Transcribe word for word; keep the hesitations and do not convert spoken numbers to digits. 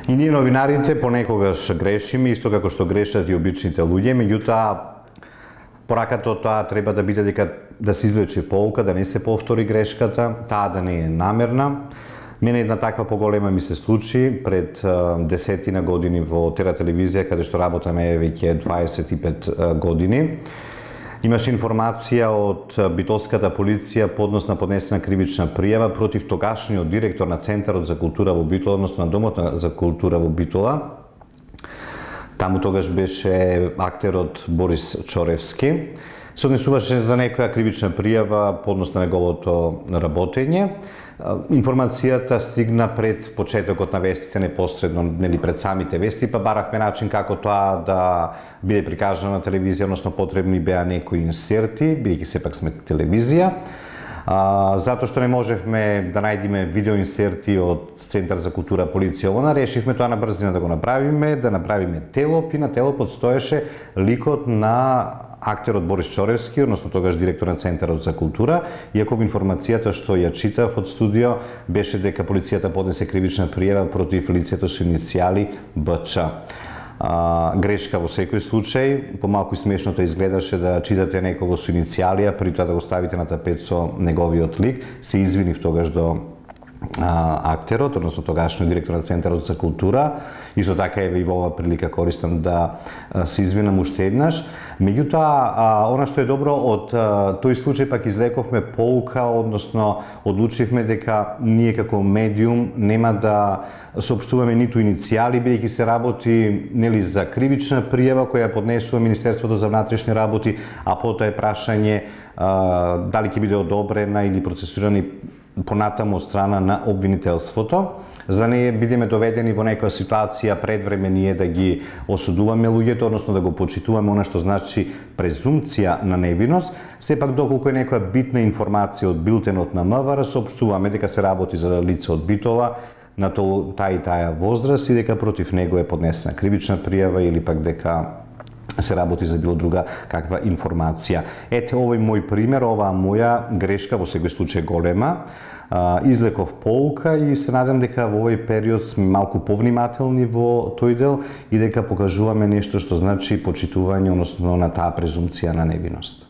И ние новинарите понекогаш грешиме, исто како што грешат и обичните луѓе, меѓутоа пораката од тоа треба да биде дека да се извлече поука, да не се повтори грешката, таа да не е намерна. Мене една таква поголема ми се случи пред десетина години во Тера телевизија, каде што работаме веќе дваесет и пет години. Имаше информација од битолската полиција по однос на поднесена кривична пријава против тогашниот директор на Центарот за култура во Битола, односно на Домот за култура во Битола. Таму тогаш беше актерот Борис Чоревски. Се однесуваше за некоја кривична пријава по однос на неговото работење. Информацијата стигна пред почетокот на вестите, непосредно нели пред самите вести, па баравме начин како тоа да биде прикажано на телевизија, односно потребни беа некои инсерти, бидејќи сепак сме телевизија. А, затоа што не можевме да најдеме видеоинсерти од Центар за култура, полиција, она решивме тоа на брзина да го направиме, да направиме телоп и на телопот стоеше ликот на актерот Борис Чоревски, односно тогаш директор на Центарот за култура, иако во информацијата што ја читав од студио беше дека полицијата поднесе кривична пријава против лицето со иницијали Б Ч. А, грешка во секој случај, помалку и смешното изгледаше да читате некого со иницијали, а при тоа да го ставите на тапет со неговиот лик. Се извинив тогаш до а, актерот, односно тогашниот директор на Центарот за култура. Исто така еве и во оваа прилика користам да се извинам уште еднаш. Меѓутоа, она што е добро од тој случај пак излековме поука, односно одлучивме дека ние како медиум нема да соопштуваме ниту иницијали, бидејќи се работи нели за кривична пријава која поднесува Министерството за внатрешни работи, а потоа е прашање а, дали ќе биде одобрена или процесирани понатаму од страна на обвинителството, за да не бидеме доведени во некоја ситуација пред време ние да ги осудуваме луѓето, односно да го почитуваме она што значи презумпција на невиност. Сепак доколку е некоја битна информација од билтенот на М В Р, соопштуваме дека се работи за лице од Битола на таа и таа возраст и дека против него е поднесена кривична пријава или пак дека се работи за било друга каква информација. Ете, овој мој пример, оваа моја грешка во секој случај голема, излеков поука и се надам дека во овој период сме малку повнимателни во тој дел и дека покажуваме нешто што значи почитување, односно на таа презумпција на невиност.